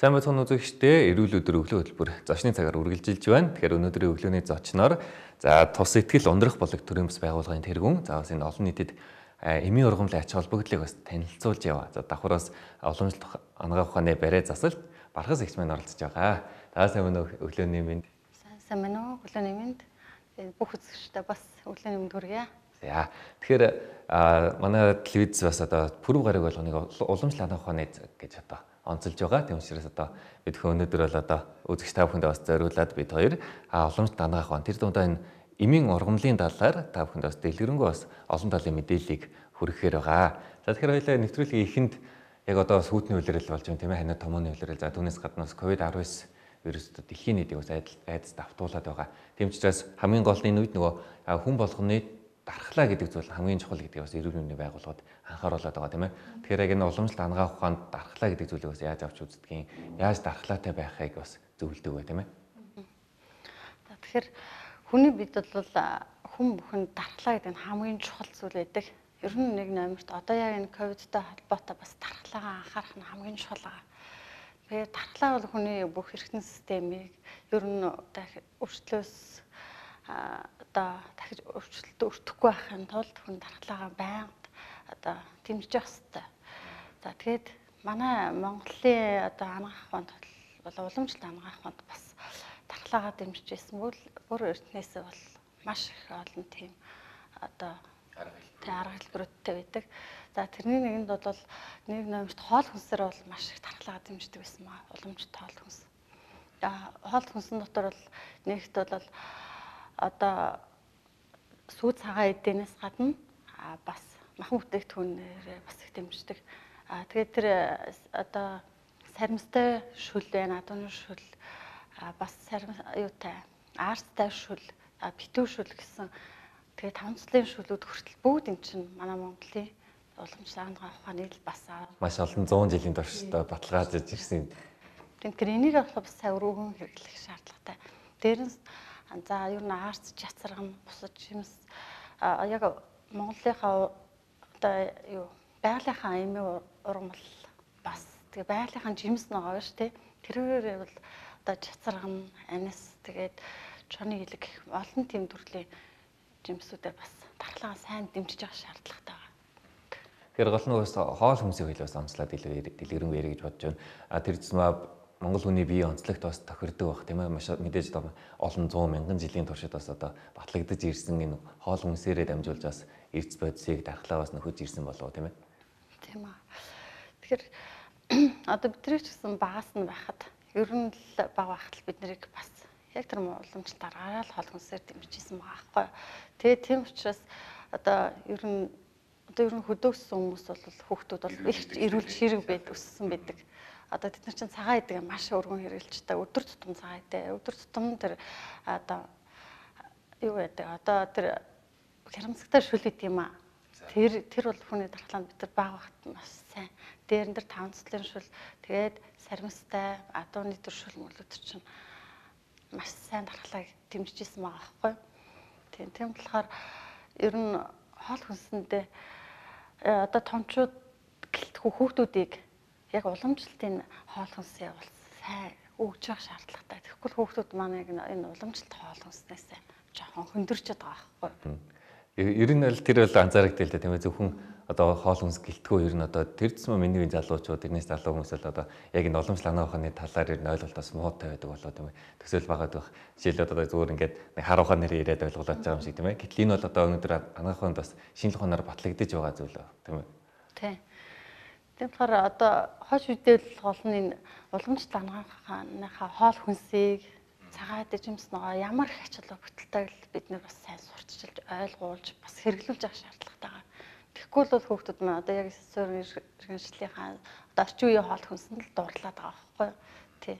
Сайн байцгаана үзэгчдээ, эрүүл өдөр өглөө хөтөлбөр зочны цагаар үргэлжилж байна. Тэгэхээр өнөөдрийн өглөөний зочноор тус сэтгэл ундрах болог төрийн бас байгууллагын тэргүүн. За бас энэ олон нийтэд эмийн ургамлын ач холбогдлыг бас танилцуулж яваа. За давхраас уламжлалт анагаах ухааны барай засалт Бархас эгч маань оролцож байгаа. За сайн байна уу өглөөний минь. Сайн байна уу өглөөний минь. Бүх үзэгчдээ бас өглөөний минь хүргье. За тэгэхээр манай телевиз бас одоо пүрэв гараг болгоныг уламжлалт анагаах ухааны гэж одоо онцолж байгаа. Тийм учраас одоо бид өнөөдөр бол одоо үзэгч та бүхэндээ бас зориулаад бид хоёр уламжлалт анагаах ухаан тэр дундаа энэ эмийн ургамлын талаар та бүхэнд бас дэлгэрэнгүй бас олон талын мэдээллийг хүргэхээр байгаа. За тэгэхээр хоёулаа нэвтрүүлгийн эхэнд яг одоо сүйдний улирал болж байна тийм ээ, ханиа томооны улирал. За түүнээс гаднаас COVID-19 вирусд дэлхийн нийтийг бас айдас давтуулаад байгаа. Тийм учраас хамгийн гол нь энэ үед нөгөө хүн болгоны дархлаа гэдэг зүйл хамгийн чухал гэдгийг бас эрүүл мэндийн байгууллагууд анхааруулад байгаа тийм ээ. Тэгэхээр яг энэ уламжлалт анагаах ухаанд дархлаа гэдэг зүйлийг бас яаж авч үздэгин, яаж дархлаатай байхыг бас зөвлөдөг бай тийм ээ. За тэгэхээр хүний бид бол хүн бүхэнд дархлаа гэдэг нь хамгийн чухал зүйл байдаг. Ер нь нэг номерт одоо яг энэ ковидтай холбоотой бас дархлаагаа анхаарах нь хамгийн чухал байгаа. Тэгэхээр дархлаа бол хүний бүх эргэтэн системийг ер нь өөрчлөөс одоо дахиж өөрчлөлт өртөхгүй байхын тулд хүн дархлаагаа байнга одоо дэмжиж явах хэрэгтэй. За тэгээд манай Монголын одоо анагаах ухаанд бол уламжлалт анагаах ухаанд бас дархлаагаа дэмжиж ирсэн бол бүр эртнээсээ бол маш их олон тийм одоо арга хэлбэрүүдтэй байдаг. За тэрний нэгэнд бол нэг номерт хоол хүнсээр бол маш их дархлаагаа дэмждэг байсан маа. Уламжлалт хоол хүнс. Хоол хүнсэн дотор бол нэгт бол одоо сүү цагаан эдэнээс гадна бас махан бүтээгдэхүүнээр бас их дэмждэг. Тэгээд тэр одоо саримстай шүл байна, адууны шүл, бас юутай арстай шүл, битүү шүл гэсэн тэгээд тавцлын шүлүүд хүртэл бүгд эн чинь манай Монголын уламжлалт анагаах ухааны л бас маш олон 100 жилийн туршдаа баталгаажиж ирсэн. Тэгэхээр энийг бас сайн өргөн хэрэглэх шаардлагатай. Дээрээс за ер нь арц чацарган бусад жимс яг Монголынхаа одоо юу байгалийнхаа эмийн ургамал бас тэгээ байгалийнхаа жимс байгаа шүү дээ. Тэрээр бол одоо чацарган, анис тэгээд чоны илэг олон тийм төрлийн жимсүүдээр бас дархлаагаа сайн дэмжиж явах шаардлагатай байна. Тэгэхээр гол нь бас хоол хүнсийг хэлээс онцлоод дэлгэрэнгүй ярих гэж бодож байна. Тэр зэмээ Монгол хүний бие онцлогт бас тохирдог байх тийм ээ. Маш мэдээж олон 100 мянган жилийн туршид бас одоо батлагдаж ирсэн энэ хоол хүнсээрээ дамжуулж бас эрдэс бодисыг дархлаа бас нөхөж ирсэн болов тийм ээ. Тийм аа. Тэгэхээр одоо бидний ч гэсэн багаас нь байхад ер нь л бага байхад л бид нарыг бас яг тэр уламжлалт аргаараа л хоол хүнсээр дэмжижсэн байгаа байхгүй. Тэгээд тийм учраас одоо ер нь хөдөөгсөн хүмүүс бол хүүхдүүд бол их эрүүл ширэг өссөн байдаг. Одоо тэд нар чинь цагаан идэг маш өргөн хэрэгжилжтэй өдөр тутам цагаан идэ. Өдөр тутам тэр одоо юу гэдэг одоо тэр хямцагтай шүл идэг юм аа. Тэр бол хүний дархлаанд бид нар баг багт маш сайн. Дээрэн дээр тавцлын шүл тэгээд саримстай адууны төр шүл мөлүүд чинь маш сайн дархлааг дэмжиж ирсэн байгаа байхгүй. Тийм болохоор ер нь хоол хүнсэндээ одоо томчууд гэлтгүй хүүхдүүдийг яг уламжлалтын хоол хүнсээ бол сайн өгж явах шаардлагатай. Тэгэхгүй хүүхдүүд маань энэ уламжлалт хоол хүнснээс жоохон хөндөрч байгаа байхгүй. Ер нь л тэр бол анзаарэгдэл л дээ тийм ээ. Зөвхөн одоо хоол хүнс гэлтгүй ер нь одоо тэр зэм миний залуучууд тэрнээс залуу хүмүүс л одоо яг энэ уламжлалт анагаах ухааны талаар ер нь ойлголтоос муутай байдаг болоо тийм ээ. Төсөөл багаад байх. Жишээлбэл одоо зүгээр ингээд нэг хар ухаан нэр яриад ойлголоод байгаа юм шиг тийм ээ. Гэтэл энэ бол одоо өнөөдөр анагаах ухаанд бас шинжлэх ухаанаар батлагдаж байгаа зүйл тийм ээ. Тийм. Тэгэхээр одоо хойш үедээ гол нь энэ уламжлалт анагаахынхаа хоол хүнсийг цагаан жимс нөгөө ямар их ач холбогдолтойг бид нар бас сайн сурталчилж ойлгуулж бас хэрэглүүлж авах шаардлагатай байгаа. Тэгэхгүй бол хүүхдүүд маань одоо яг суурин иргэншлийнхаа одоо орчин үеийн хоол хүнсэнд л дуурлаад байгаа байхгүй юу? Тий.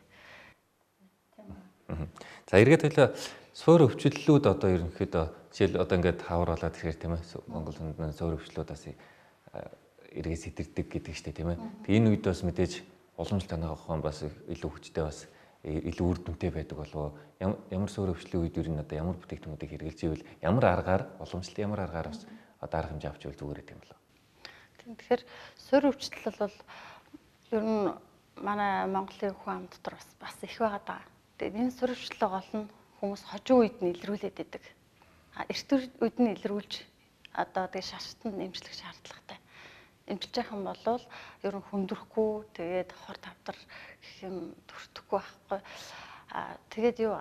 За эргээд хэлээ суур өвчлөлүүд одоо ерөнхийдөө жишээл одоо ингээд хавар болоод ирэхээр тийм ээ. Монгол хүнд суур өвчлөлүүдээс эргээ сэтэрдэг гэдэг штэ тийм ээ. Тэг энэ үед бас мэдээж уламжлалт анагаах ухаан бас илүү хүчтэй бас илүү үр дүнтэй байдаг болов ямар суур өвчлөлийн үед ер нь одоо ямар бүтээгдэхүүнүүдийг хэрэгжилж ивэл ямар аргаар уламжлалт ямар аргаар бас одоо арга хэмжээ авч ивэл зүгээр гэдэг юм болоо. Тэгэхээр суур өвчлөл бол ер нь манай Монголын хүн ам дотор бас их байгаа даа. Тэгээд энэ сурвалжлал гол нь хүмүүс хожим үед нь илрүүлээд идэг. Эрт үед нь илрүүлж одоо тэгээд шашалтанд нэмжлэх шаардлагатай. Эмчилж явах юм бол ер нь хүндрэхгүй тэгээд хор тавдар гэх юм төртөхгүй байхгүй. Тэгээд юу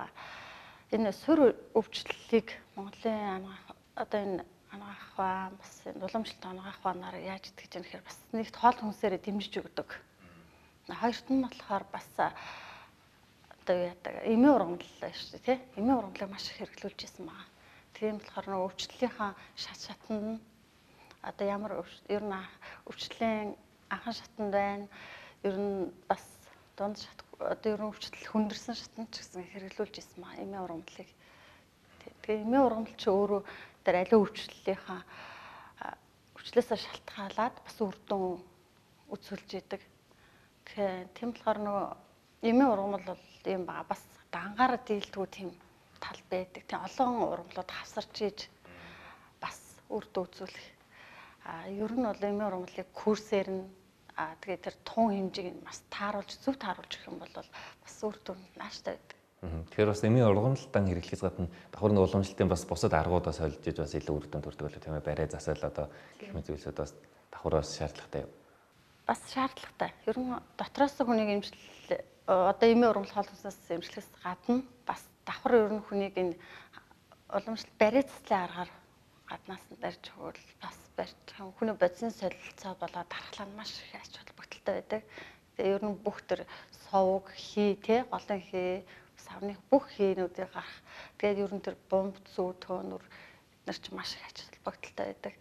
энэ сур өвчлөлийг Монголын одоо энэ анагаах ба бас уламжлалт анагаах банаар яаж идэх гэж юм хэрэг бас нэгт хоол хүнсээрээ дэмжиж өгдөг. Хоёрт нь болохоор бас одоо яадаг эмийн ургамал шүү дээ тий. Эмийн ургамлыг маш их хэрэглүүлж байсан байгаа. Тийм болохоор нөгөө өвчлөлийнхаа шатанд нь одоо ямар ер нь өвчлөлийн анхан шатанд байна. Ер нь бас дунд шат одоо ер нь өвчлөл хүндэрсэн шатанд ч гэсэн хэрэглүүлж байсан маа эмийн ургамлыг. Тэгээ эмийн ургамал ч өөрөө тэр аливаа өвчлөлийнхаа өвчлөөсөө шалтгаалаад бас үр дүн үзүүлж идэг. Тийм болохоор нөгөө эмийн ургамал бол юм баа бас ангаараа дийлдэггүй тийм тал байдаг. Тийм олон ургамлууд хавсарч ийж бас үр дүн үзүүлэх. Ер нь бол эмийн ургамлыг курсээр нь тэгээд тэр тун хэмжээг нь бас тааруулж зөв тааруулж өгөх юм бол бас үр дүн нааштай байдаг. Тэгэхээр бас эмийн ургамлалтан хэрэглэхээс гадна давхар нь уламжлалтын бас бусад аргуудаа солилж иж бас илүү үр дүн төрдөг болоо тийм ээ. Барай засал одоо гэх мэт зүйлсүүд бас давхараас шаардлагатай юу? Бас шаардлагатай. Ер нь дотроос хүнийг эмчилэл одоо эмийн ургамал хоол хүнсээс эмчлэхээс гадна бас давхар ер нь хүнийг энэ уламжлалт барай заслын аргаар гаднаас нь барьж өгвөл бас барьж хүний бодисын солилцоо болоод дархлаа нь маш их ач холбогдолтой байдаг. Тэгээ ер нь бүх төр совг, хий тий голын хий, савны бүх хийнүүдийг гарах. Тэгээд ер нь тэр бомб зүү төөнөр бид нар ч маш их ач холбогдолтой байдаг.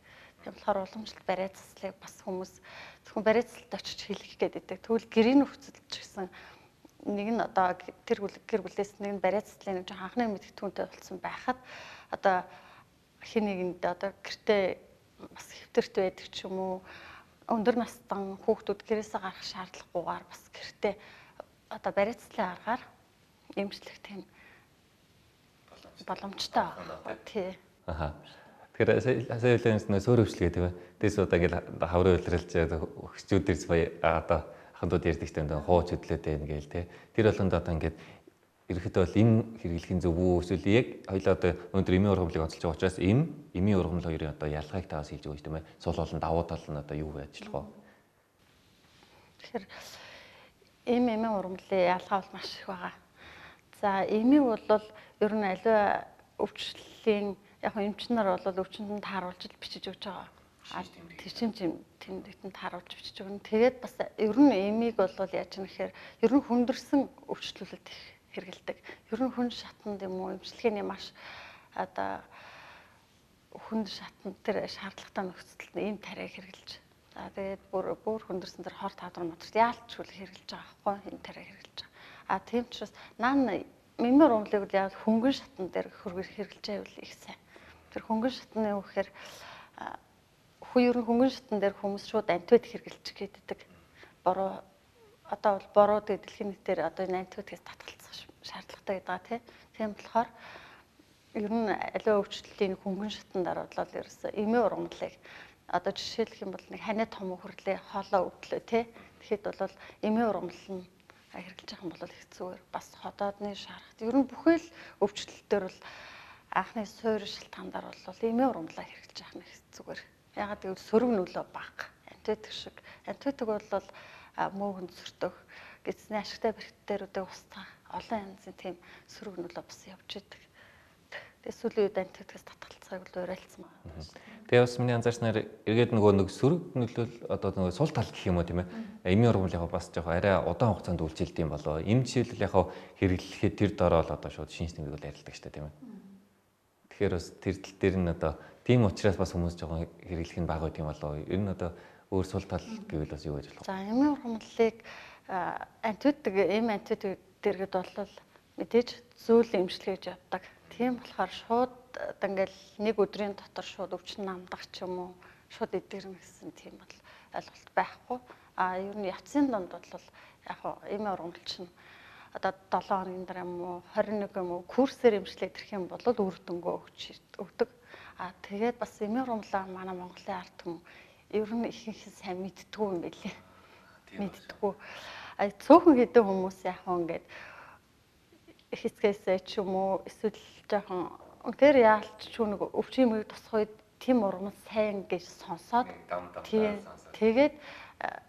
Тийм болохоор уламжлалт барай заслыг бас хүмүүс зөвхөн барай заслалт очиж хэлэх гээд байдаг. Тэгвэл гэрийн нөхцөлч гэсэн нэг нь одоо тэр гэр бүлээс нэг нь барай заслын нэг анхны мэдгэдэгтүүнтэй болсон байхад одоо хин нэгэнд одоо гэртээ бас хэвтэрт байдаг ч юм уу өндөр настан хүүхдүүд гэрээсээ гарах шаардлагагүйгээр бас гэртээ одоо барай заслын аргаар эмчлэх тийм боломжтой байна. Тий. Тэгэхээр сая хэлээс нөө суур өвчлөгээ тийм ээ. Дэс удаа ингээл хаврын үйлрэлж өгчүүдэрс бая одоо ахандууд ярьдаг тийм хууч хөдлөөтэй ингээл тий. Тэр болонд одоо ингээд ерөөхдөө бол энэ хэрэглэхийн зөв үү эсвэл яг хоёлаа одоо өнөөдөр эмийн ургамлыг онцолж байгаа учраас эмийн ургамал хоёрын одоо ялгааг таваас хэлж өгч тийм ээ. Сул болон давуу тал нь одоо юу вэ ажиллах вэ? Тэгэхээр эмийн ургамлын ялгаа бол маш их байгаа. За эмийг бол ер нь аливаа өвчлөлийн яг эмч нар бол өвчнөд тааруулж бичиж өгч байгаа. Тэшин тэмдэгтэн тааруулж бичиж өгнө. Тэгээд бас ер нь эмийг бол яаж юм гэхээр ер нь хүндэрсэн өвчлөлөд их хэрэгэлдэг. Ер нь хүн шатанд юм уу эмчилгээний маш одоо хүнд шатанд тэр шаардлагатай нөхцөлд ийм тариаг хэрэгэлж. За тэгээд бүр хүндэрсэн тэр хор тавдар моторт яалтчгүй хэрэгэлж байгаа байхгүй энэ тариаг хэрэгэлж байгаа. Тийм ч бас наан эмийн ургамлыг яг хөнгөн шатан дээр хэрэгэлж байвал их сайн. Тэр хөнгөн шатны юу гэхээр ер нь хөнгөн шатан дээр хүмүүс шууд антибиотик хэрэгэлж гээддэг. Бороо одоо бол бороо дэлхийн нийтээр одоо энэ антибиотикээс татгалзах шаардлагатай гэдэг тийм болохоор ер нь аливаа өвчлөлийн хөнгөн шатандаар бодлоо ерөөсөө эмийн ургамлыг одоо жишээлх юм бол нэг ханиа том хөрлөө хоолоо өвдлөө тэгэхэд бол эмийн ургамал нь хэрэглэж байгаа юм бол их зүгээр бас ходоодны шарахт ер нь бүхэл өвчлөлтөөр бол анхны суур шалтгаанаар бол эмийн ургамлаа хэрэглэж байгаа нь их зүгээр. Ягаад гэвэл сөрөг нөлөө бага. Антибиотик шиг. Антибиотик бол мөөгөнд сөртөх, гидсний ашигтай бэрхтээрүүдээ устгах олон янзын тийм сөрөг нөлөө бас явж идэг. Тэгээ сүүлийн үед антибиотикээс татгалцахыг бол уриалцсан байна. Тэгээ бас миний анзаарснаар эргээд нэг сөрөг нөлөөл одоо нэг сул тал гэх юм уу тийм ээ. Эмийн ургамал яг бас жоох арай удаан хугацаанд үйлчилдэг юм болоо. Эм жишээлбэл яг хэрэглэхэд тэр дороо л одоо шууд шинж тэмдэг бол ярилдаг шүү дээ тийм ээ. Тэгэхээр бас тэр тал дээр нь одоо тийм учраас бас хүмүүс жоохон хэрэглэх нь бага байт юм болоо. Ер нь одоо өөр сул тал гэвэл бас юу гэж болох вэ? За эмийн ургамлыг антибиотик дэргэд бол мэдээж зөөл эмчилгээ гэж явдаг. Тийм болохоор шууд ингээл нэг өдрийн дотор шууд өвчин намдах ч юм уу шууд эдгэрнэ гэсэн тийм бол ойлголт байхгүй. Ер нь явцын донд бол яг эмийн ургамал чинь одоо 7 хоногийн дараа юм уу 21 юм уу курсээр эмчилгээ ирэх юм бол үр дүнгөө өгдөг. Тэгээд бас эмийн ургамлаа манай Монголын ард түмэн ер нь ихэнх сайн мэддэггүй юм билээ. Мэддэггүй. Цөөхөн хэдэн хүмүүс яг ингээд хэсгээсээ ч юм уу эсвэл жоохон үнээр яалч ч нэг өвчин юмыг тусах үед тийм ургамал сайн гэж сонсоод тэгээд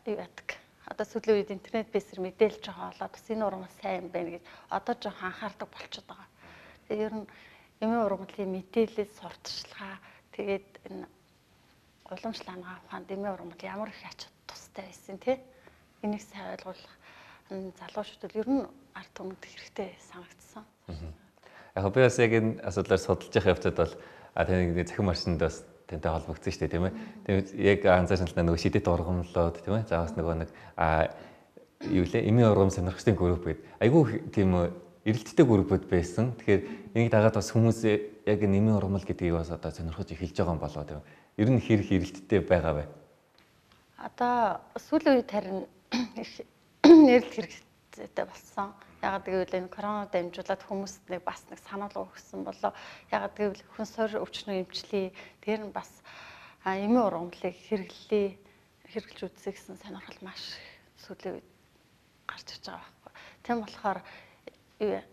юу яадаг. Одоо сүүлийн үед интернет бэсэр мэдээлж байгаа болоод бас энэ ургамал сайн юм байна гэж одоо жоохон анхаардаг болчиход байгаа. Тэгээд ер нь эмийн ургамлын мэдээлэл сурталчилгаа тэгээд энэ уламжлалаа ухаанд эмийн ургамал ямар их ач тустай байсан тий. Энийг сайн ойлгуулах залуучуудад ер нь ард түмэнд хэрэгтэй санагдсан. Яг би бас яг энэ асуудлаар судалж явах явцад бол таны захин машинд бас тантай холбогдсон шүү дээ тийм ээ. Тэгээд яг анзаарсан л нөгөө шидэт ургамлууд тийм ээ. За бас нөгөө нэг юу лээ эмийн ургам сонирхчдын групп гэдэг. Айгүй тийм эрэлттэй группуд байсан. Тэгэхээр энийг дагаад бас хүмүүс яг эмийн ургамал гэдгийг бас одоо сонирхож эхэлж байгаа юм болоо тийм. Ер нь хэрэг эрэлттэй байгаа бай. Одоо сүүлийн үед харин нэрэлт хэрэгцээтэй болсон. Ягаад гэвэл энэ коронавирус дамжуулаад хүмүүст нэг бас нэг санал өгсөн болоо. Ягаад гэвэл хүн суур өвчнөө эмчлээ. Тэр нь бас эмийн ургамлыг хэрэглэж үзье гэсэн сонирхол маш сүүлийн үед гарч иж байгаа байхгүй. Тийм болохоор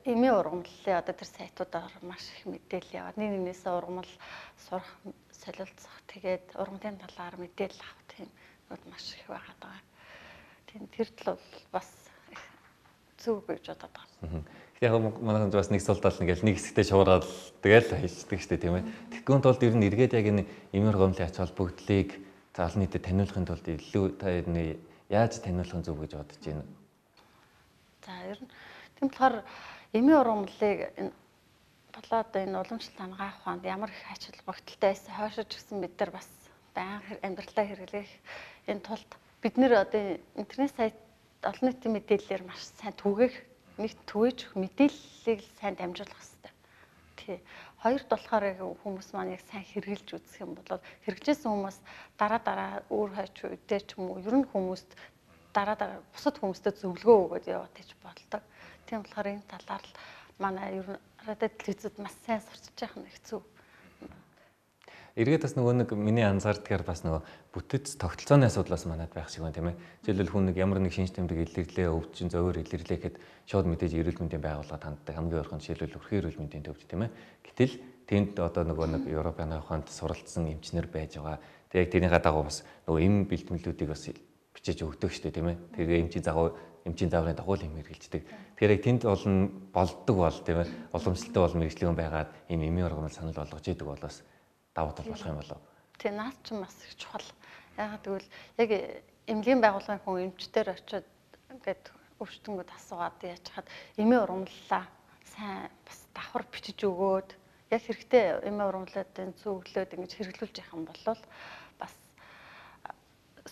эмийн ургамлын одоо тэр сайтуудаар маш их мэдээлэл яваад нэг нэгнээсээ ургамал сурах, солилцох, тэгээд ургамлын талаар мэдээлэл авах тийм маш их байгаад байгаа. Тэр тал бол бас зүг гэж бодоод байгаа. Яг манайхан бас нэг сул тал нэг хэсэгтээ шуургаад тэгэл хийждэг шүү дээ тийм ээ. Тэгэхгүйн тулд ер нь эргээд яг энэ эмийн ургамлын ач холбогдлыг олон нийтэд таниулахын тулд илүү та энэ яаж таниулах зүг гэж бодож байна? За ер нь тийм болохоор эмийн ургамлыг энэ болоод энэ уламжлалт ангаах ухаанд ямар их ач холбогдолтой байсан хойшиж гисэн бид нар бас байнга амьдралдаа хэрэглэх энэ тулд бид нэр одоо интернет сайт олон нийтийн мэдээллээр маш сайн түгээх нэгт түгэж мэдээллийг сайн дамжуулах хэрэгтэй. Тий. Хоёрт болохоор хүмүүс маань яг сайн хэрэгжилж үзэх юм бол хэрэгжсэн хүмүүс дараа өөр хойч үедээ ч юм уу ер нь хүмүүст дараа бусад хүмүүстээ зөвлөгөө өгөөд яваад гэж болдог. Тийм болохоор энэ талаар л манай ер нь радио телевизэд маш сайн сурчиж байгаа нэг хэцүү. Эргээд бас нөгөө нэг миний анзаардгаар бас нөгөө бүтэц тогтолцооны асуудал бас манайд байх шиг байна тийм ээ. Жишээлбэл хүн нэг ямар нэг шинж тэмдэг илэрлээ, өвчин зөөр илэрлээ гэхэд шууд мэдээж эрүүл мэндийн байгууллага ханддаг хамгийн ойрхон жишээлбэл өрхийн эрүүл мэндийн төвч тийм ээ. Гэтэл тэнд одоо нөгөө нэг Европын ухаанд суралцсан эмчнэр байж байгаа. Тэг яг тэрний дагуу бас нөгөө эм бэлтгэлүүдийг бас бичиж өгдөг шүү дээ тийм ээ. Тэгээ эмчийн зааврын дагуу юм хэрэгжилдэг. Тэгэхээр яг тэнд болдог бол тийм ээ. Уламжлалтай бол мэрэгчлэн байгаад ийм эмийн ургамал санал болгож идэг болоос давуу тал болох юм болов. Тий, наад чинь бас их чухал. Ягаад гэвэл яг эмнэлгийн байгууллагын хүн эмчтэр очиод ингээд өвчтөнгөд асуугаад яаж хаад эмийн ургамллаа сайн бас давхар бичиж өгөөд яг хэрэгтэй эмийн ургамлуудын зөвлөлөөд ингэж хэрэглүүлж явах юм бол бас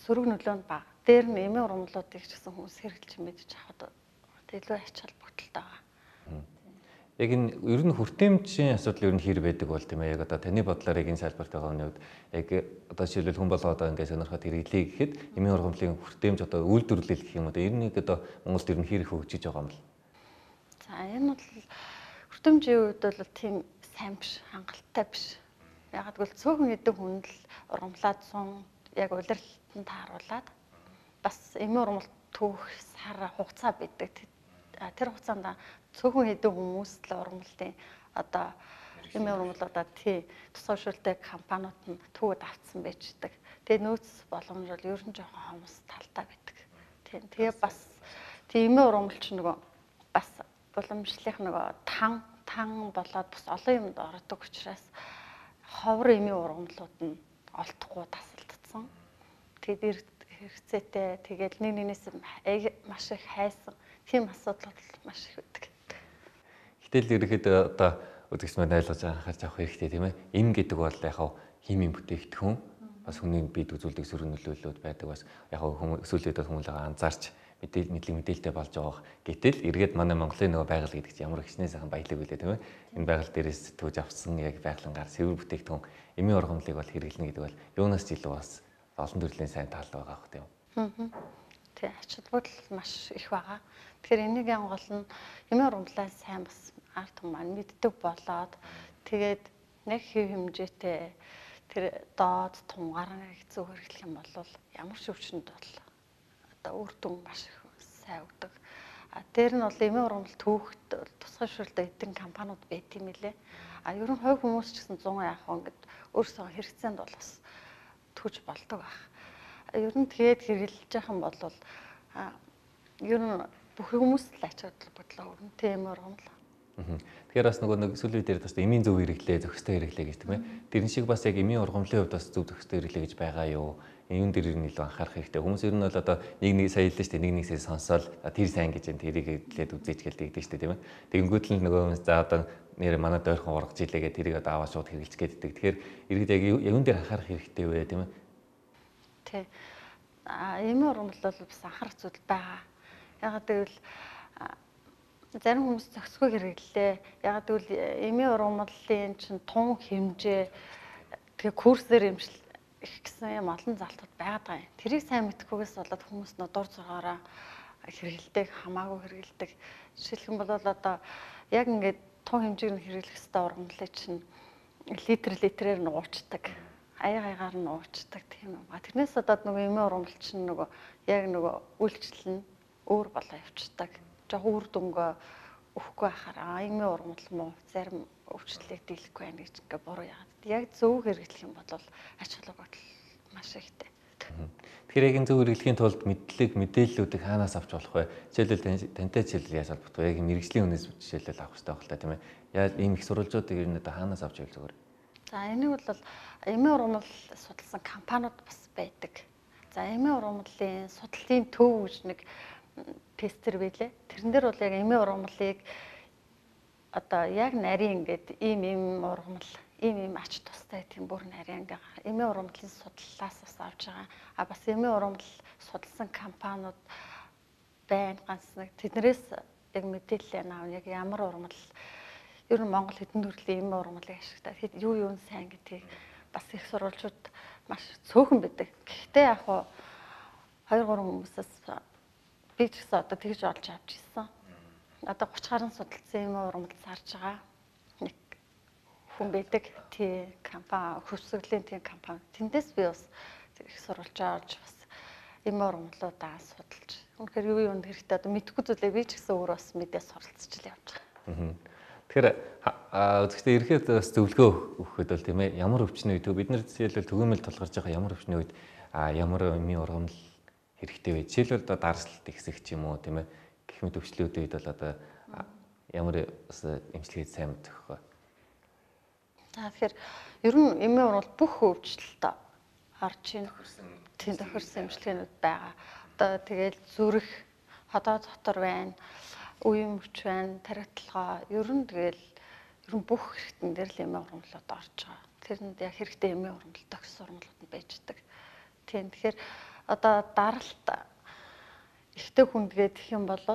сөрөг нөлөө нь бага. Дээр нь эмийн ургамлуудыг ч гэсэн хүмүүс хэрэглэж мэдж авахд илүү ач холбогдолтой байгаа. Яг энэ ер нь хүртээмжийн асуудал ер нь хэр байдаг бол тийм ээ. Яг одоо таны бодлоор яг энэ салбарт байгаа хүний хувьд яг одоо жишээлбэл хүн болгоо одоо ингээд сонирхоод хэрэглэе гэхэд эмийн ургамлын хүртээмж одоо үйлдвэрлэл гэх юм одоо ер нь одоо Монголд ер нь хэр их хөгжиж байгаа юм бол. За энэ бол хүртээмжийн үед бол тийм сайн биш, хангалттай биш. Ягаад гэвэл цөөхөн хэдэн хүн л ургамлаад сун яг улирлалтанд тааруулаад бас эмийн ургамал түүх сар хугацаа бидэг. Тэр хугацаанд цөөхөн хэдэн хүмүүс л ургамлын одоо эмийн ургамлуудаа тий тусгайшуулдаг компаниуд нь төвөд авцсан байждаг. Тэгээ нөөц боломж бол ер нь жоохон хомс талтай байдаг. Тэгээ бас тий эмийн ургамал ч нөгөө бас уламжлалынх нөгөө тан болоод бас олон юмд ордог учраас ховор эмийн ургамлууд нь олдохгүй тасалдсан. Тэгээд хэрэгцээтэй тэгээд нэг нэгнээс маш их хайсан тийм асуудал маш их байдаг. Гэтэл ерөөхдөө одоо үзэгч маань ойлгож анхаарч авах хэрэгтэй тийм ээ. Эм гэдэг бол яг химийн бүтээгдэхүүн бас хүний биед үзүүлдэг сөрөг нөлөөллүүд байдаг бас яг хүмүүс өсвөлөд хүмүүс анзаарч мэдээлэлтэй болж байгаа. Гэтэл эргээд манай Монголын нөгөө байгаль гэдэг чинь ямар хичнээн сайхан баялаг үлээ тийм ээ. Энэ байгаль дээрээс төвж авсан яг байгалангаар сэвэр бүтээгдэхүүн эмийн ургамлыг бол хэрэглэнэ гэдэг бол юунаас ч илүү бас олон төрлийн сайн тал байгаа хөх тийм. Тэг ач холбогдол маш их байгаа. Тэгэхээр энийг гол нь эмийн ургамлаа сайн бас ард түмэн маань мэддэг болоод тэгээд нэг хэв хэмжээтэй тэр доод тунгаар зүг хэрэглэх юм бол ямар ч өвчнөд бол одоо үр дүн маш их сайн өгдөг. Дээр нь бол эмийн ургамал түүхт тусгай шүрэлтэй эдгээр компаниуд байт юм лээ. Ер нь хувь хүмүүс ч гэсэн 100 яах вэ гэд өөрсдөө хэрэгцээнд бол бас төгж болдог байх. Ер нь тэгээд хэрэглэж явах юм бол ер нь бүх хүмүүс л ач холбогдол өрнөтэй эмийн ургамал. Тэгэхээр бас нэг сүүлийн үед ярьдаг эмийн зөв хэрэглээ, зохистой хэрэглээ гэж тийм ээ. Тэрэн шиг бас яг эмийн ургамлын хувьд бас зөв зохистой хэрэглээ гэж байгаа юу? Юун дээр нь илүү анхаарах хэрэгтэй. Хүмүүс ер нь бол одоо нэг сая хэллээ шүү дээ. Нэг сонсоол тэр сайн гэж тэрийг хэлээд үзээч гэлдэг шүү дээ тийм ээ. Тэгэнгүүт л нөгөө хүмүүс за одоо нэр манай дойрхон ургаж илээгээ тэрийг одоо аваа шууд хэрэглэж гээддэг. Тэгэхээр иргэд яг юун дээр анхаарах хэрэгтэй вэ тийм ээ? Тэ. Эмийн ургамал бол бас анхаарах зүйл байгаа. Ягаад гэвэл зарим хүмүүс зохисгүй хэрэглээ. Ягаад гэвэл эмийн ургамлын чинь тун хэмжээ тэгээ курсээр эмчил их гэсэн юм олон залтууд байгаа юм. Тэрийг сайн мэдхгүйгээс болоод хүмүүс нөө дур зургаараа хэрэгэлдэг, хамаагүй хэрэгэлдэг. Жишээлх юм бол одоо яг ингээд тун хэмжээг нь хэрэглэх хэвээр ургамлыг чинь литрээр нуучдаг. Аягаар нуучдаг тийм юм. Тэрнээс одоо нөгөө эмийн ургамал чинь нөгөө яг нөгөө үйлчлэл нь өөр болоо явцдаг. Жог үр дүнгээ өгөхгүй байхаар эмийн ургамал муу зарим өвчлөлийг дийлэхгүй байх гэж ингээ буруу яагаад. Яг зөв хэрэглэх юм бол ач холбогдол маш ихтэй. Тэгэхээр яг энэ зөв хэрэглэхийн тулд мэдээллүүдийг хаанаас авч болох вэ? Жишээлбэл тантай жишээлбэл яаж холбогдох вэ? Яг мэрэгжлийн үнээс жишээлбэл авах хэрэгтэй байх л та тийм ээ. Яаж ийм их сурвалжуудыг ер нь одоо хаанаас авч ивэл зүгээр? За энийг бол эмийн ургамал судалсан компаниуд бас байдаг. За эмийн ургамлын судлалын төв гэж нэг тестер байлээ. Тэрэн дээр бол яг эмийн ургамлыг одоо яг нарийн ингээд ийм ургамал, ийм ач тустай тийм бүр нарийн ингээ эмийн ургамлын судлалаас бас авч байгаа. Бас эмийн ургамал судалсан компаниуд байна ганц нэг тэднэрээс яг мэдээлэл аавна. Яг ямар ургамал ер нь Монгол хэдэн төрлийн эмийн ургамлыг ашигладаг. Тэгэд юу сайн гэдгийг бас их сурвалжууд маш цөөхөн байдаг. Гэхдээ яг 2-3 хүмүүсээс би ч гэсэн одоо тэгж олж авч ирсэн. Одоо 30 гаруй судалсан эмийн ургамал зарж байгаа нэг хүн байдаг. Тий компани, хөвсгөлийн тий компани. Тэндээс би бас их сурвалж авч бас эмийн ургамлуудаа судалж. Үнэхээр юу хэрэгтэй одоо мэдэхгүй зүйлээ би ч гэсэн өөрөө бас мэдээ суралцж л явж байгаа. Тэгэхээр үзэгчдээ ирэхэд бас зөвлөгөө өгөхөд бол тийм ээ ямар өвчний үед бид нар жишээлбэл түгээмэл тулгарч байгаа ямар өвчний үед ямар эмийн ургамал хэрэгтэй вэ? Жишээлбэл одоо дарслалт ихсэх ч юм уу тийм ээ гэх мэт өвчлөлүүд үед бол одоо ямар бас эмчилгээ сайн мэдэх вэ? За тэгэхээр ер нь эмийн ургамал бүх өвчлөлт орж ийн тохирсон эмчилгээнүүд байгаа. Одоо тэгэл зүрх, ходоо дотор байна, үеийн мөч байна, тархитлогоо ер нь бүх хэрэгтэн дээр л эмийн ургамлууд орж байгаа. Тэрэнд яг хэрэгтэй эмийн ургамал тохирсон ургамлууд нь байждаг. Тийм тэгэхээр одоо даралт ихтэй хүндгээд гэх юм бол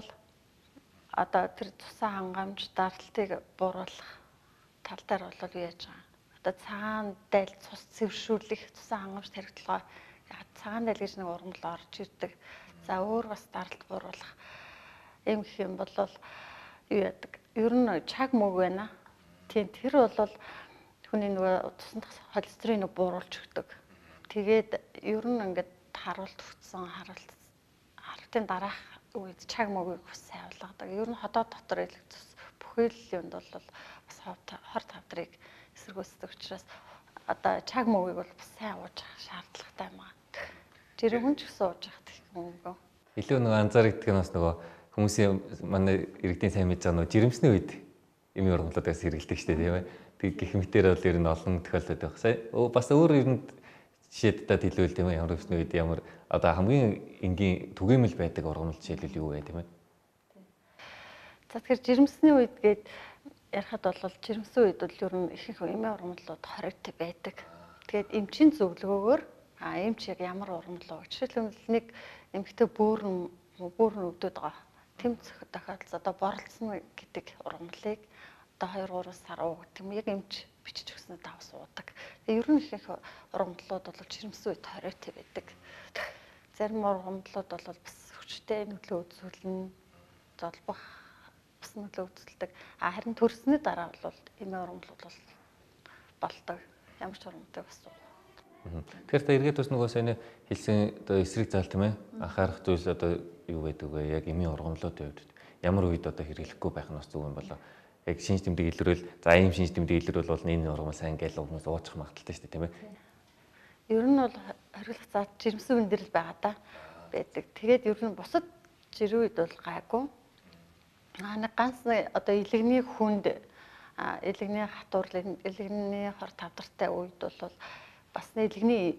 одоо тэр цусаа хангамж даралтыг бууруулах тал дээр бол юу яаж байгаа. Одоо цагаан daйл цус цэвэршүүлэх цусаа хангамж тархитлогоо цагаан daйл гэж нэг ургамал орж ирдэг. За өөр бас даралт бууруулах юм гэх юм бол юу яадаг. Ер нь чаг мөг байна. Тийм тэр бол хүний нөгөө цуснд холестериныг бууруулж өгдөг. Тэгээд ер нь ингээд харуулт өгсөн харалтын дараах үед чаг мөгийг бас сайн болгодог. Ер нь ходоо дотор илэх цус бүхэл юмд бол бас хор тавдрыг эсэргүүцдэг учраас одоо чаг мөгийг бол бас сайн ууж шаардлагатай юм аа. Жирийн хүн ч гэсэн ууж явах гэх юм уу. Илүү нөгөө анзаардаг нь бас нөгөө хүмүүсийн манай иргэдийн сайн мэдж байгаа нөгөө жирэмсний үед эмийн ургамлуудаас хэрэгэлдэг шүү дээ тийм ээ. Тэг гэх мэтээр бол ер нь олон тохиолдод байх. Сая бас өөр ер нь жишээдтэй хэлвэл тийм ээ ямар өвчний үед ямар одоо хамгийн энгийн түгээмэл байдаг ургамал жишээлбэл юу вэ тийм ээ. За тэгэхээр жирэмсний үед гээд ярихад бол жирэмсэн үед бол ер нь их эмийн ургамлууд хоригтой байдаг. Тэгээд эмчийн зөвлөгөөгөөр эмч яг ямар ургамал уу жишээлбэл нэг эмэгтэй бөөрн өвдөд байгаа. Тэмцэх тохиолдол одоо борлцсон гэдэг ургамлыг одоо 2-3 сар уу гэдэг юм яг эмч бичиж өгснөд давс уудаг. Тэгээ ер нь их ургамлууд бол жирэмсэн үед хоригтой байдаг. Зарим ургамлууд бол бас хүчтэй нөлөө үзүүлнэ, золбох бас нөлөө үзүүлдэг. Харин төрсний дараа бол эмийн ургамлууд бол болдог. Ямар ч ургамлыг бас Тэгэхээр та эргээд бас нөгөө сайн хэлсэн одоо эсрэг зал тийм ээ анхаарах зүйл одоо юу байдаг вэ? Яг эмийн ургамлуудын хувьд ямар үед одоо хэрэглэхгүй байх нь бас зөв юм болоо. Яг шинж тэмдэг илрүүл за ийм шинж тэмдэг илрүүл бол энэ ургамал сайн гээл хүмүүс уучих магадaltaй шүү дээ тийм ээ. Ер нь бол хориглох заад жирэмсэн өндөрлөл байгаа да байдаг. Тэгээд ер нь бусад жирийн үед бол гайгүй. Нэг ганц одоо илэгний хүнд илэгний хатуурлын илэгний хор тавдартай үед бол бас илэгний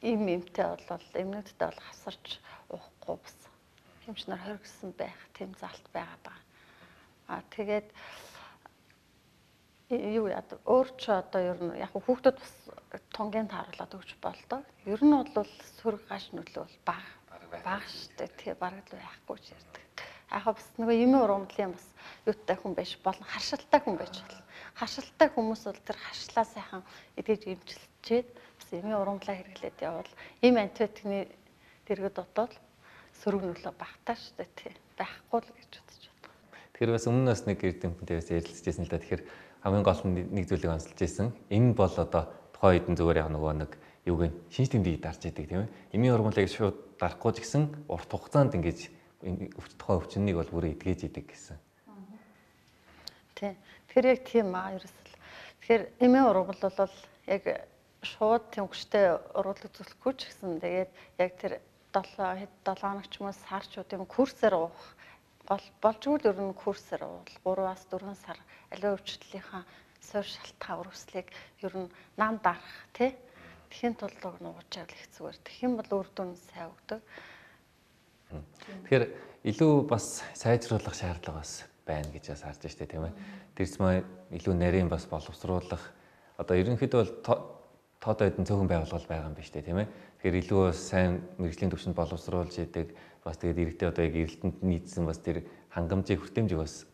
им эмтэй бол эмнүүдтэй бол хасарч уухгүй бас хэмжнэр хоригдсан байх тийм залт байгаад байгаа. Тэгээд юу яа өөр ч одоо ер нь яг хүүхдүүд бас тунгийн тааруулаад өгч болдог. Ер нь бол сөрөг гаш нөлөө бол бага штэ тий бараг л байхгүй ч ярьдаг. Яг бас нөгөө эмийн ургамлын бас юутай хүн байж болно харшилтай хүн байж болно. Харшилтай хүмүүс бол тэр харшлаа сайхан эдгэж эмчилчээд бас эмийн ургамлаа хэрэглээд явбал эм антибиотикны дэргэд дотоод сөрөг нөлөө багтаа штэ тий байхгүй л гэж бодож байна. Тэгэхээр бас өмнө бас нэг эрдэмтэнтэй бас ярилцажсэн л да. Тэгэхээр хамгийн гол нь нэг зүйлийг онцолж ирсэн. Энэ бол одоо тухайн үед нь зүгээр яг нөгөө нэг юуг нь шинж тэмдгийг дарж идэг тийм ээ. Эмийн ургамлыг шууд дарахгүй ч гэсэн урт хугацаанд ингэж тухайн өвчнийг бол бүрээ эдгэж идэг гэсэн. Тий. Тэгэхээр яг тийм ерөөсөл. Тэгэхээр эмийн ургамал бол яг шууд тэмгчтэй ургамал үзүүлэхгүй ч гэсэн тэгээд яг тэр 7 хоног ч юм уу сарчуудын курсээр уух болжгүй ер нь курсээр уувал 3-аас 4 сар аливаа өвчлөлийнхаа суур шалтгаан үргэлжлэлийг ер нь нам дарах тий тэхийн тулд нуугч авал их зүгээр. Тэхийн бол үр дүн сайн өгдөг. Тэгэхээр илүү бас сайжруулах шаардлага бас байна гэж бас харж штэ тийм ээ. Тэрсмээ илүү нарийн бас боловсруулах одоо ерөнхийдөө бол тоод ойдын цөөхөн байгууллага байгаа юм биш үү тийм ээ. Тэгэхээр илүү сайн мэрэгжлийн түвшинд боловсруулж идэг бас тэгээд иргэдэд одоо яг эрэлтэнд нийцсэн бас тэр хангамжийг хүртээмжийг бас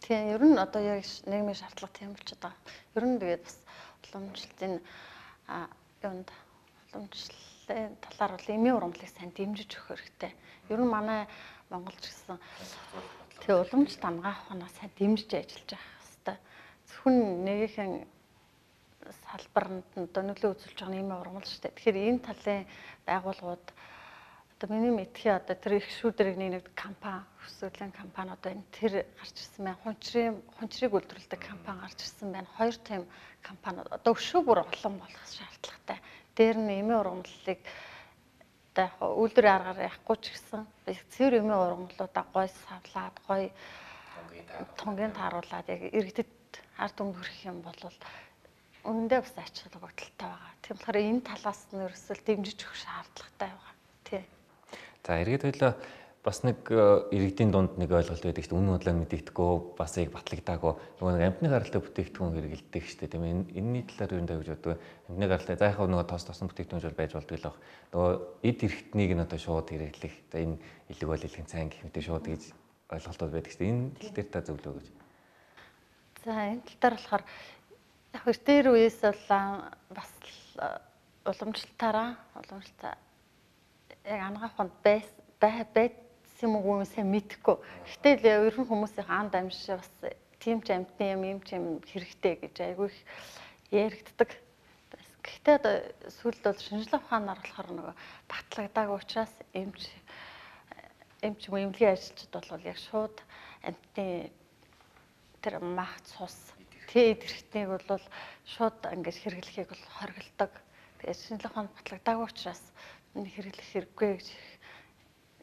тийм ер нь одоо яг нийгмийн шаардлага тийм болчиход байгаа. Ер нь тэгээд бас уламжлалтын уламжлалын талаар бол эмийн ургамлыг сайн дэмжиж өгөх хэрэгтэй. Ер нь манай Монголч гэсэн тэг уламжлалт хамгаах ухаанаа сайн дэмжиж ажиллаж явах хэрэгтэй. Зөвхөн нэгэн салбарт одоо нөлөө үзүүлж байгаа эмийн ургамал шүү дээ. Тэгэхээр энэ талын байгууллагууд одоо миний мэдхий одоо тэр их шүүдэрэг нэг компани өсвөлийн компаниуд байна. Тэр гарч ирсэн байна. Хунчрыг үйлдвэрлэдэг компани гарч ирсэн байна. Хоёр тийм компаниуд одоо өшөө бүр олон болох шаардлагатай. Дээр нь эмийн ургамлыг одоо яг үйлдвэрийн аргаар яахгүй ч гэсэн цэвэр эмийн ургамлуудаа гой савлаад гой тунгийн тааруулаад яг иргэдэд ард түмэнд хүрэх юм бол үнэндээ бас ач холбогдолтой байгаа. Тийм болохоор энэ талаас нь ерөөсөө дэмжиж өгөх шаардлагатай байгаа. Тий. За эргээд хоёлаа бас нэг иргэдийн дунд нэг ойлголт байдаг шүү дээ. Үнэн бодлоо мэдэгдэхгүй бас яг батлагдаагүй нөгөө нэг амтны гаралтай бүтээгдэхүүн хэрэгэлдэг шүү дээ. Тийм ээ. Энэний талаар юу нэ гэж боддог. Амтны гаралтай за яхав нөгөө тосон бүтээгдэхүүн бол байж болдог л баг. Нөгөө эд эрхтнийг нь одоо шууд хэрэглэх. За энэ илэг бол илхэн цайн гэх мэт шууд гэж ойлголтууд байдаг шүү дээ. Энэ тал дээр та зөвлөө гэж. За энэ тал дээр болохоор яг тэр үеэс бол бас уламжлалтаараа яг анагаах хонд байсан юм уу сайн мэдэхгүй. Гэтэл ер нь хүмүүсийн анд амжиж бас тийм ч амтны юм юм ч юм хэрэгтэй гэж айгүй их яригддаг. Гэхдээ одоо сүүлд бол шинжилгээ ухаанаар болохоор нөгөө батлагдаагүй учраас эмч юм эмнэлгийн ажилчид бол яг шууд амтны тэр мах цус тэд хэрэгтнийг бол шууд ингэж хэрэглэхийг бол хориглодог. Тэгээд шинжилгээ ухаанд батлагдаагүй учраас энэ хэрэглэх хэрэггүй гэж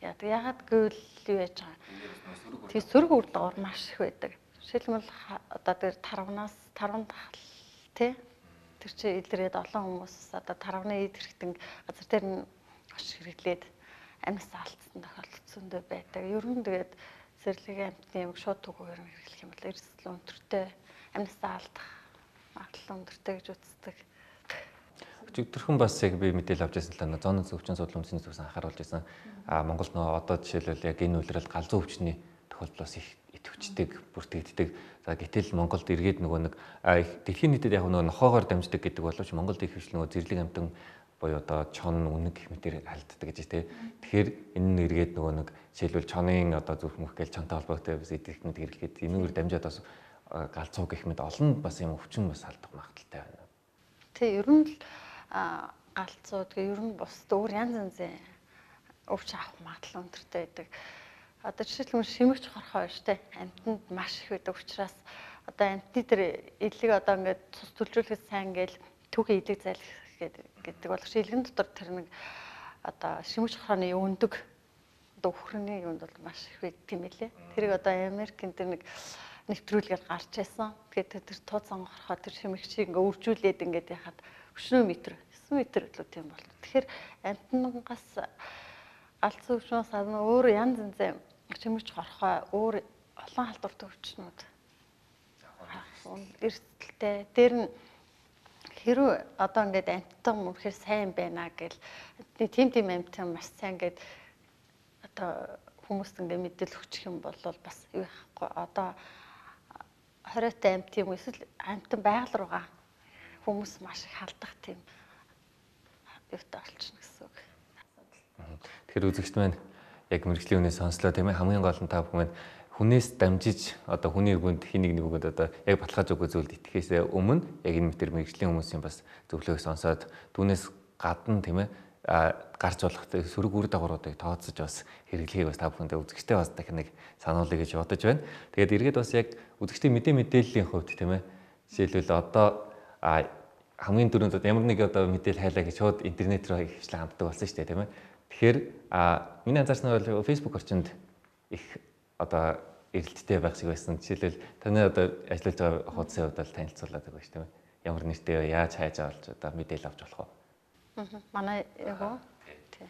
яагаад гэвэл юу яаж байгаа. Тэгээ сөрөг үр дагавар маш их байдаг. Жишээлбэл одоо тэр тарвнаас тий тэр чи илрээд олон хүмүүс одоо тарвны эд хэрэгтэн газар дээр нь гош хэрэглээд амьс алдсан тохиолдол зөндөө байдаг. Ер нь тэгээд зэрлэгийн амтны юм шууд түгээр нь хэрэглэх юм бол эрсдэл өндөртэй амьсаа алдах магадлал өндөртэй гэж үздэг. Өчигдөрхөн бас яг би мэдээлэл авч байсан л да зооны өвчин судлал үндэсний зүгээс анхааруулж байсан. Монголд нөгөө одоо жишээлбэл яг энэ үйлрэл галзуу өвчний тохиолдол бас их идэвхждэг, бүртгэгддэг. За гэтэл Монголд эргээд нөгөө нэг дэлхийн нийтэд яг нөгөө нохоогоор дамждаг гэдэг боловч Монголд их хвч нөгөө зэрлэг амтан буюу одоо чон үнэг гэх мэтээр халддаг гэж тий. Тэгэхээр энэ нь эргээд нөгөө нэг жишээлбэл чонын одоо зүрх мөх гээл чонтой холбоотой бас эдгэрхнүүд хэрэглээд энэгээр дамжаад бас галзуу гэх мэт олон бас юм өвчин бас халдах магадaltaй байна. Тий, ер нь л галзуу тэгээ ер нь бусд өөр янз янзын өвч авах магадлал өндөртэй байдаг. Одоо жишээлбэл шимэгч хорхоо байна штэ. Амьтанд маш их байдаг учраас одоо амьтны тэр илэг одоо ингээд цус төлжүүлэхэд сайн гээл түүхий илэг зайлх гэдэг бол шилгэн дотор тэр нэг одоо шимэгч хорхооны өндөг одоо өхрөний юунд бол маш их байдаг тийм ээ. Тэрийг одоо Америкийн тэр нэг нэвтрүүлгээр гарч байсан. Тэгэхээр тэр тууцан хорхоо тэр шимэгчийг ингээ үржүүлээд ингээд яхад 9 м л тийм бол. Тэгэхээр амьтангаас галзуу өвчнөөс гадна өөр янз янзын шимэгч хорхоо өөр олон халдвартай өвчнүүд эрсдэлтэй. Тэр нь хэрвээ одоо ингээд амьтан мөрөхөр сайн байна гэл тийм амьтан маш сайн гэд одоо хүмүүст ингээд мэдээлэл өгчих юм бол бас юу яахгүй одоо 20-тай амьт юм эсвэл амьтан байгаль руугаа хүмүүс маш их халдах тийм юутай болчихно гэсэн үг. Тэгэхээр үзэгчд маань яг мэрэгжлийн үнээс сонслоо тийм ээ хамгийн гол нь та бүхэн хүнээс дамжиж одоо хүний өргөнд хин нэг өгөөд одоо яг баталгааж өгөх зүйлд итгэхээс өмнө яг энэ мэтэр мэрэгжлийн хүмүүсийн бас зөвлөгөөг сонсоод түүнээс гадна тийм ээ гарч болох сөрөг үр дагавруудыг тооцож бас хэрэглэхийг бас та бүхэндээ үзэгчтэй бас дахин нэг сануулъя гэж бодож байна. Тэгээд эргээд бас яг үзэгчдийн мэдээллийн хувьд тийм ээ жишээлбэл одоо хамгийн түрүүнд ямар нэг одоо мэдээлэл хайлаа гэж шууд интернет рүү хвчлэн ханддаг болсон шүү дээ тийм ээ. Тэгэхээр миний анзаарснаар бол Facebook орчинд их одоо эрэлттэй байх шиг байсан. Жишээлбэл таны одоо ажиллаж байгаа хуудсын хувьд бол танилцуулаад байгаа шүү тийм ээ. Ямар нэртэй яаж хайж авалж одоо мэдээлэл авч болох вэ? Манай яг уу. Тий.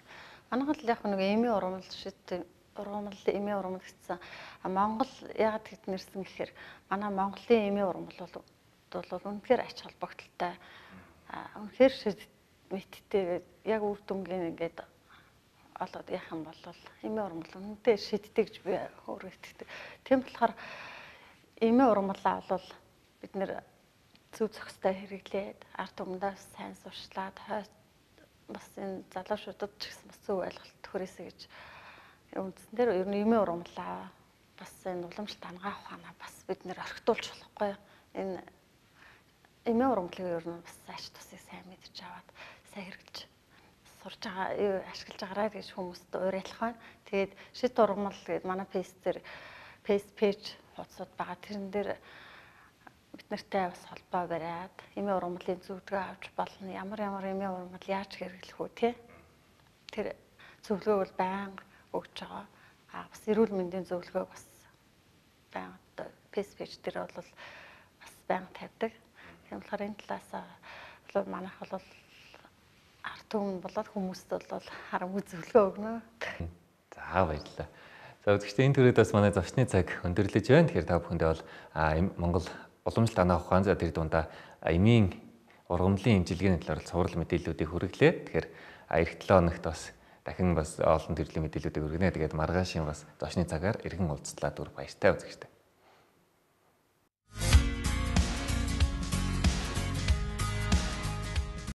Манайх л яг нэг эмийн ургамал шийдтэй ургамал эмийн ургамал гэсэн. Монгол ягаад гэд нэрсэн гэхээр манай Монголын эмийн ургамал бол үнэхээр ач холбогдолтой. Үнэхээр мэдтэй яг үр дүнгийн ингээд олоод яах юм бол эмийн ургамал үнэтэй шийддэг гэж би өөрөө итгэдэг. Тийм болохоор эмийн ургамалаа бол бид нэр зөв зохистой хэрэглээд ард түмэндээ сайн сурчлаад бас энэ залуучуудад ч гэсэн бас зөв ойлголт хүрээсэй гэж үндсэн дээр ер нь эмийн ургамлаа бас энэ уламжлалт хангаа ухаанаа бас бид нэр орхитуулж болохгүй. Энэ эмийн ургамлыг ер нь бас ач тусыг сайн мэдж аваад сайн хэрэглэж сурж байгаа ашиглаж байгаарай гэж хүмүүст уриалах байна. Тэгээд шит ургамал гэдэг манай пэйж хуудсууд байгаа. Тэрэн дээр бид нартай бас холбоо бариад эмийн ургамлын зөвлөгөө авч болно. Ямар эмийн ургамал яаж хэрэглэх үү те. Тэр зөвлөгөө бол байнга өгч байгаа. Бас эрүүл мэндийн зөвлөгөө бас байнга пэйж дээр бол бас байнга тавьдаг. Тийм болохоор энэ талаас бол манайх бол ард түмэн болоод хүмүүст бол харамгүй зөвлөгөө өгнө. За баярлалаа. За үзэгчдээ энэ төрөд бас манай зочны цаг өндөрлөж байна. Тэгэхээр та бүхэндээ бол Монгол уламжлалт анаа ухаан за тэр дундаа эмийн ургамлын имчилгээний талаар цуврал мэдээллүүдийг хүргэлээ. Тэгэхээр эх 7 хоногт бас дахин бас олон төрлийн мэдээллүүдийг өргөнэ. Тэгээд маргаашийн бас зочны цагаар иргэн уулзлаа дүр баяртай үзэгчдээ.